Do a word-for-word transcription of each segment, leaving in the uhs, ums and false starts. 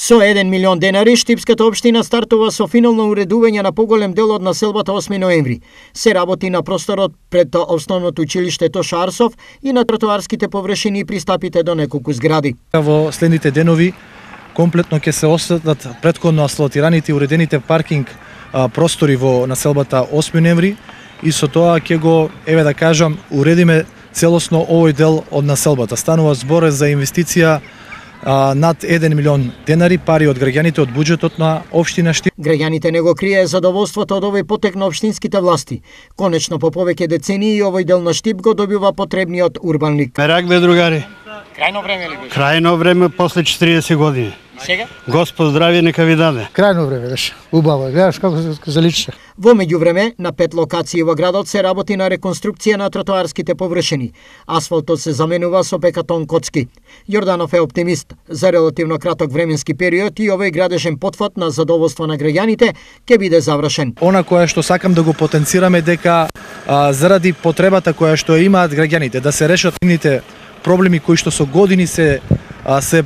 Со еден милион денари, Штипската општина стартува со финално уредување на поголем дел од населбата осми ноември. Се работи на просторот пред основното училиште Тоша Арсов и на тротоарските површини и пристапите до неколку згради. Во следните денови комплетно ќе се осветлат претходно асфалтираните и уредените паркинг а, простори во населбата осми ноември и со тоа ќе го, еве да кажам, уредиме целосно овој дел од населбата. Станува збор за инвестиција а, над еден милион денари, пари од граѓаните од буџетот на општина Штип. Граѓаните не го крие задоволството од овој потек на општинските власти. Конечно, по повеќе децении овој дел на Штип го добива потребниот урбан лик. Мерак бе, другари. Крајно време ли беше? Крајно време после четириесет години. Сега? Господ здравје нека ви даде. Крајно време беше. Убаво. Гледаш како се заличеше. Во меѓувреме, на пет локации во градот се работи на реконструкција на тротоарските површини. Асфалтот се заменува со бекатон коцки. Јорданов е оптимист. За релативно краток временски период и овој градежен потфат на задоволство на граѓаните ќе биде завршен. Она кое што сакам да го потенцираме дека а, заради потребата која што имаат граѓаните да се решат нивните проблеми кои што со години се а, се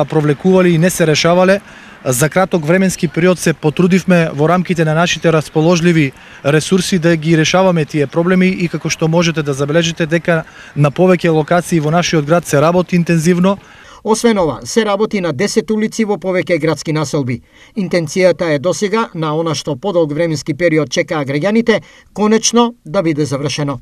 провлекували и не се решавале, за краток временски период се потрудивме во рамките на нашите расположливи ресурси да ги решаваме тие проблеми и како што можете да забележите дека на повеќе локации во нашиот град се работи интензивно. Освен ова, се работи на десет улици во повеќе градски населби. Интенцијата е досега на она што подолг временски период чекаа граѓаните, конечно да биде завршено.